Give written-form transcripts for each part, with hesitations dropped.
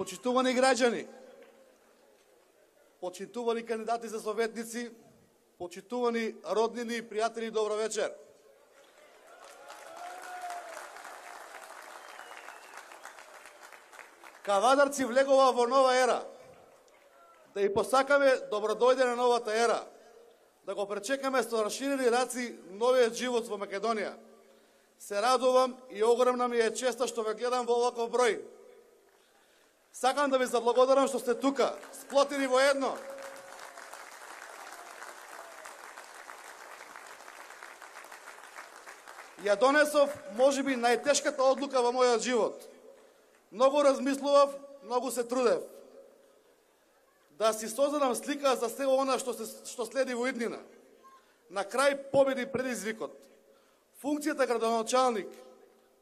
Почитувани граѓани, почитувани кандидати за советници, почитувани роднини и пријатели, добро вечер. Кавадарци влегува во нова ера. Да и посакаме добродојде на новата ера. Да го пречекаме со расширени раци новиот живот во Македонија. Се радувам и огромна ми е честа што ве гледам во оваков број. Сакам да ви заблагодарам што сте тука, сплотени во едно. Ја донесов можеби најтешката одлука во мојот живот. Многу размислував, многу се трудев. Да си создадам слика за се она што следи во иднина. На крај победи предизвикот. Функцијата градоначалник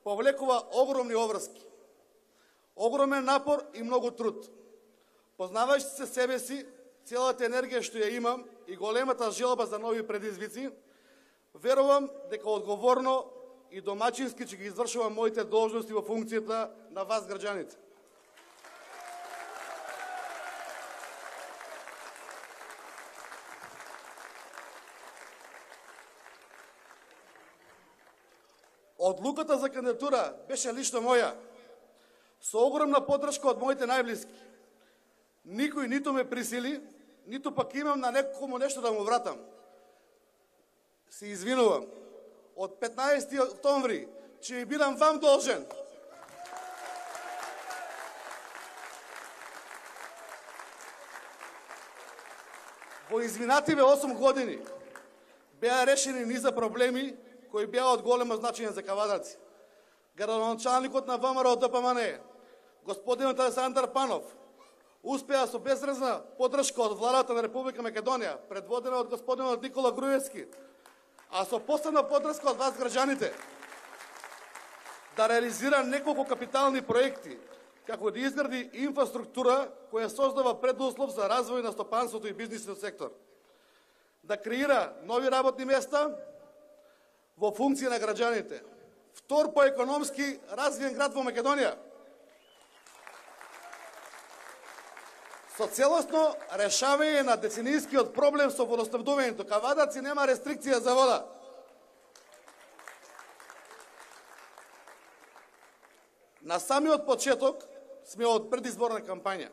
повлекува огромни обврски. Огромен напор и многу труд. Познавајќи се себе си, целата енергија што ја имам и големата желба за нови предизвици, верувам дека одговорно и домачински ќе ги извршувам моите должности во функцијата на вас, граѓаните. Одлуката за кандидатура беше лично моја, со огромна поддршка од моите најблиски. Никој ниту ме присили, ниту пак имам на некому нешто да му вратам. Се извинувам. Од 15. октомври ќе ви бидам вам должен. Во изминативе 8 години беа решени низа проблеми кои беа од големо значење за кавадарци. Градоначалникот на ВМРО ДПМН, господинот Александар Панов, успеа со безрезна поддршка од владата на Република Македонија, предводена од господинот Никола Груевски, а со посебна поддршка од вас, граѓаните, да реализира неколку капитални проекти, како да изгради инфраструктура која создава предуслов за развој на стопанството и бизнисот сектор, да креира нови работни места во функција на граѓаните, втор по економски развиен град во Македонија, со целосно решавање на деценијскиот проблем со водоснабдувањето. Кавадарци нема рестрикција за вода. На самиот почеток сме од предизборна кампања.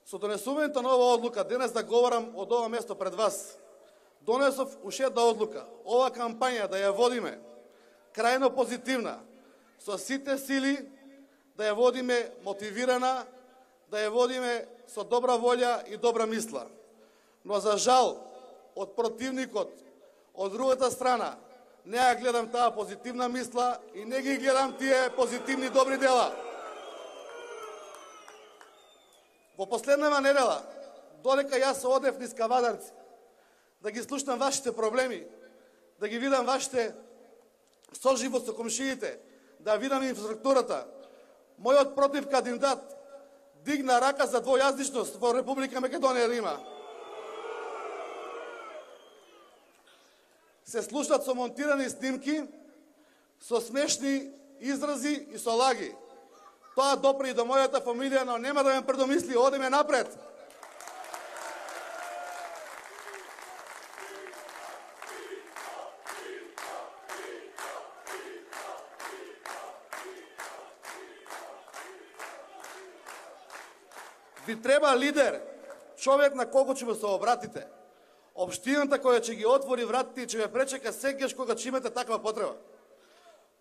Со донесувањето на оваа одлука, денес да говорам од ова место пред вас, донесов уште една одлука. Ова кампања да ја водиме крајно позитивна, со сите сили, да ја водиме мотивирана, да ја водиме со добра волја и добра мисла. Но за жал, од противникот, од другата страна, не ја гледам таа позитивна мисла и не ги гледам тие позитивни добри дела. Во последнава недела, додека јас се одев низ Кавадарци, да ги слушнам вашите проблеми, да ги видам вашите соживот со комшиите, да видам инфраструктурата, мојот против кандидат дигна рака за двојазичност во Република Македонија да има. Се слушнат со монтирани снимки, со смешни изрази и со лаги. Тоа допре и до мојата фамилија, но нема да ме предомисли, одиме напред. Ви треба лидер, човек на кого ќе се обратите. Општината која ќе ги отвори вратите и ќе ве пречека секогаш кога ќе имате таква потреба.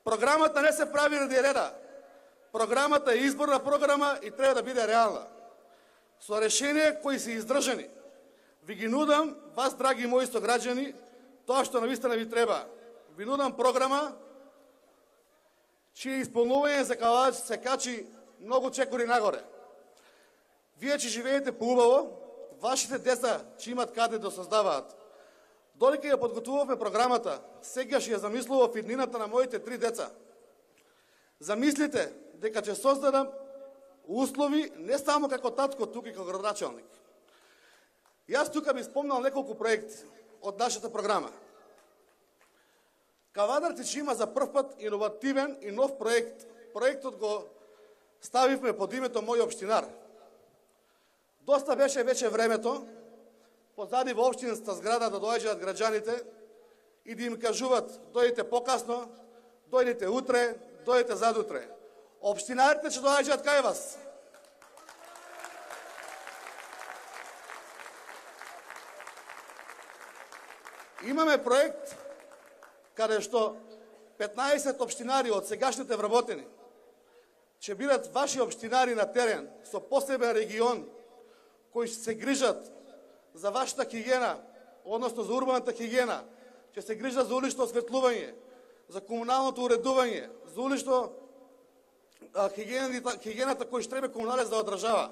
Програмата не се прави ради реда. Програмата е изборна програма и треба да биде реална. Со решенија кои се издржани. Ви ги нудам, вас, драги мои сограѓани, тоа што навистина ви треба. Ви нудам програма, чие исполнување за Кавадач се качи многу чекори нагоре. Вие ќе живеете поубаво, вашите деца ќе имат каде да создаваат. Додека ја подготвувавме програмата, сегаш ја замислував иднината на моите 3 деца. Замислите дека ќе создадам услови не само како татко, тука и како градоначалник. Јас тука би спомнал неколку проекти од нашата програма. Кавадарци ќе има за прв пат иновативен и нов проект. Проектот го ставивме под името Мој општинар. Доста беше вече времето позади во општинската зграда да доаѓаат граѓаните и да им кажуваат: дојдете покасно, дојдете утре, дојдете задутре. Општинарите ќе доаѓаат кај вас. Имаме проект каде што 15 општинари од сегашните вработени ќе бидат ваши општинари на терен со посебен регион кои ќе се грижат за вашата хигиена, односно за урбаната хигиена, ќе се грижат за улично осветлување, за комуналното уредување, за улично хигиената кој што треба комуналец да одржава.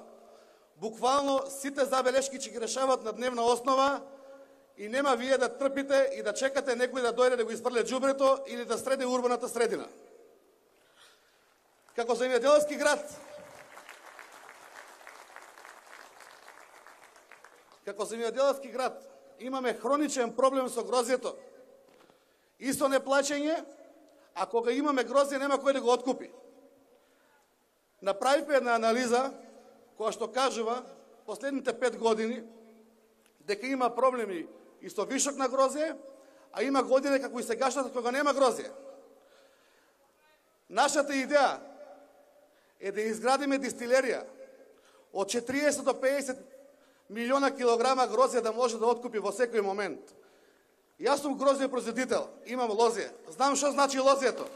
Буквално сите забелешки ќе ги решават на дневна основа и нема вие да трпите и да чекате некој да дојде да го испрле џубрето или да среди урбаната средина. Како земјоделски град, имаме хроничен проблем со грозјето и со неплаќање, а кога имаме грозје нема кој да го откупи. Направивме една анализа која што кажува последните 5 години дека има проблеми и со вишок на грозје, а има години како и сегашната кога нема грозје. Нашата идеја е да изградиме дистилерија од 40 до 50 милиона килограма грозје да може да откупи во секој момент. Јас сум грозје производител, имам лозје. Знам што значи лозјето.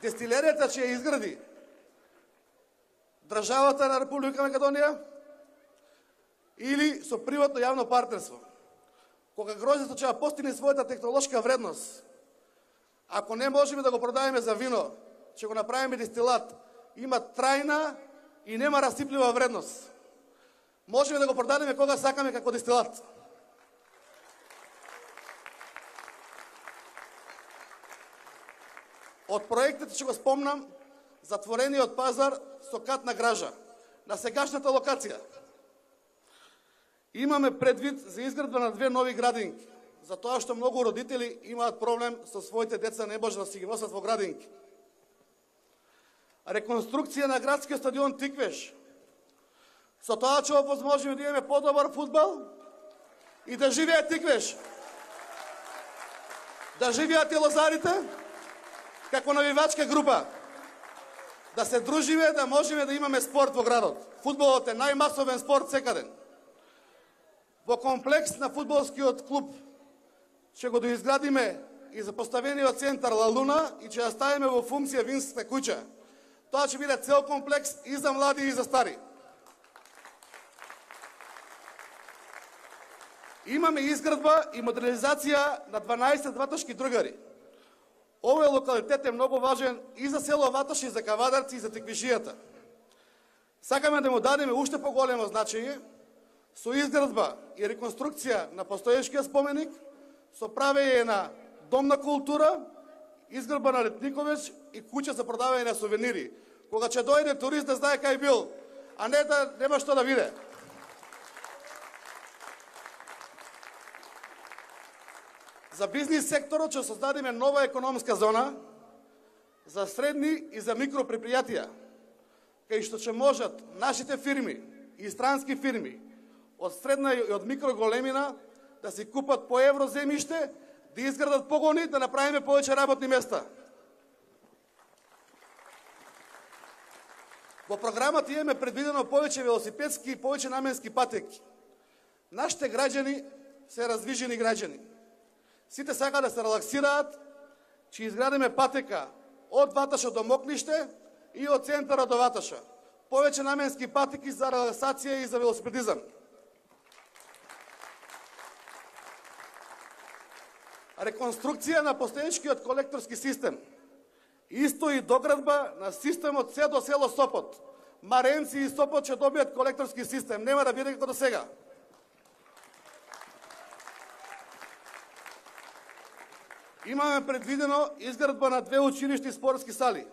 Дистилеријата ќе ја изгради државата на Република Македонија или со приватно јавно партнерство. Кога грозјето ќе постигне својата технолошка вредност, ако не можеме да го продаваме за вино, ќе го направиме дистилат, има трајна и нема расиплива вредност. Можеме да го продадеме кога сакаме како дистилат. Од проектите ќе го спомнам затворениот пазар со катна гража на сегашната локација. Имаме предвид за изградба на 2 нови градинки, затоа што многу родители имаат проблем со своите деца, не може да си ги носат во градинки. Реконструкција на градскиот стадион Тиквеш. Со тоа ќе овозможиме да имаме подобар фудбал и да живее Тиквеш. Да живеат и лозарите како навивачка група. Да се дружиме, да можеме да имаме спорт во градот. Фудбалот е најмасовен спорт секаде. Во комплекс на фудбалскиот клуб ќе го доизградиме и за поставениот центар Ла Луна и ќе ја ставиме во функција винската куќа. Тоа ќе биде цел комплекс и за млади и за стари. Имаме изградба и модернизација на 12 ваташки другари. Овој локалитет е многу важен и за село Ваташ, и за Кавадарци, и за Тиквишијата. Сакаме да му дадеме уште поголемо значење со изградба и реконструкција на постоечкиот споменик, со правење на дом на култура, изградба на летниковеч и куќа за продавање на сувенири. Кога ќе дојде турист да знае кај бил, а не да нема што да виде. За бизнис секторот ќе создадеме нова економска зона за средни и за микропредпријатија, кај што ќе можат нашите фирми и странски фирми од средна и од микроголемина да си купат по евро земјиште, да изградат погони, да направиме повеќе работни места. Во програмата имаме предвидено повеќе велосипедски и повеќе наменски патеки. Нашите граѓани се раздвижени граѓани. Сите сака да се релаксираат, ќе изградиме патека од Ваташа до Мокниште и од центарот до Ваташа. Повеќе наменски патеки за релаксација и за велосипедизам. Реконструкција на постоечкиот колекторски систем. Исто и доградба на системот се до село Сопот. Маренци и Сопот ќе добијат колекторски систем, нема да биде како до сега. Имаме предвидено изградба на 2 училишни спортски сали.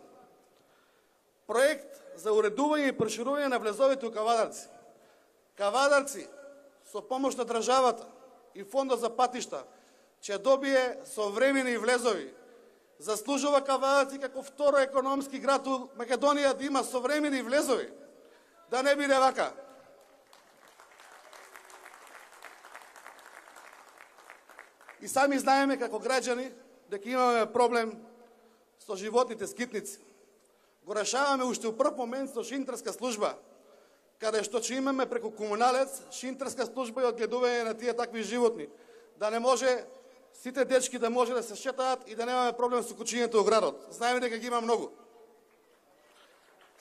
Проект за уредување и проширување на влезовите у Кавадарци. Кавадарци, со помош на државата и фондот за патишта, ќе добие современи влезови Заслужува Кавадаци како второ економски град у Македонија да има современи влезови. Да не биде вака. И сами знаеме како граѓани дека имаме проблем со животните скитници. Го решаваме уште у прв момент со шинтерска служба, каде што ќе имаме преку комуналец шинтерска служба и одгледување на тие такви животни. Да не може сите дечки да може да се шетаат и да немаме проблем со кучињето во градот. Знаеме дека ги има многу.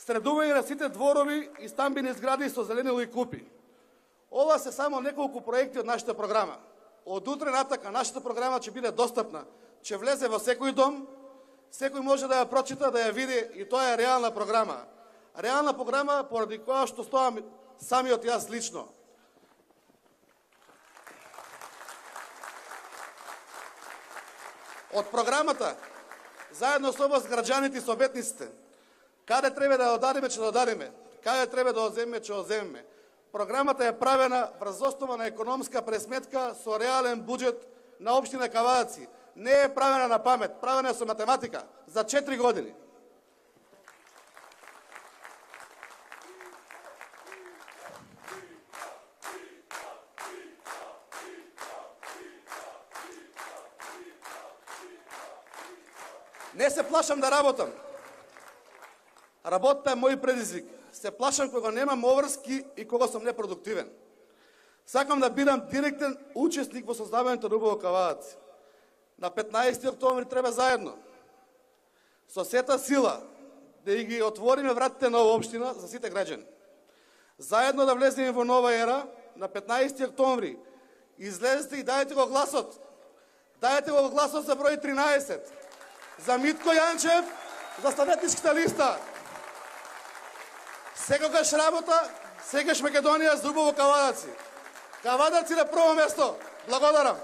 Средување на сите дворови и стамбени згради со зеленило и купи. Ова се само неколку проекти од нашата програма. Од утре натака нашата програма ќе биде достапна, ќе влезе во секој дом, секој може да ја прочита, да ја види и тоа е реална програма. Реална програма поради која што стоам самиот јас лично. Од програмата, заедно со вас граѓаните и советниците, каде треба да одадеме, ќе додадеме, каде треба да одземеме, ќе одземеме. Програмата е правена врз основа на економска пресметка со реален буџет на општина Кавадаци. Не е правена на памет, правена е со математика за 4 години. Не се плашам да работам. Работата е мој предизвик. Се плашам кога немам обврски и кога сум непродуктивен. Сакам да бидам директен учесник во создавањето на убаво Кавадаци. На 15 октомври треба заедно, со сета сила, да ги отвориме вратите на оваа општина за сите граѓани. Заедно да влеземе во нова ера, на 15 октомври, излезете и дајте го гласот. Дајте го гласот за број 13. За Митко Јанчев, за советничката листа. Секогаш работа, секогаш Македонија за убаво Кавадаци. Кавадаци на прво место. Благодарам.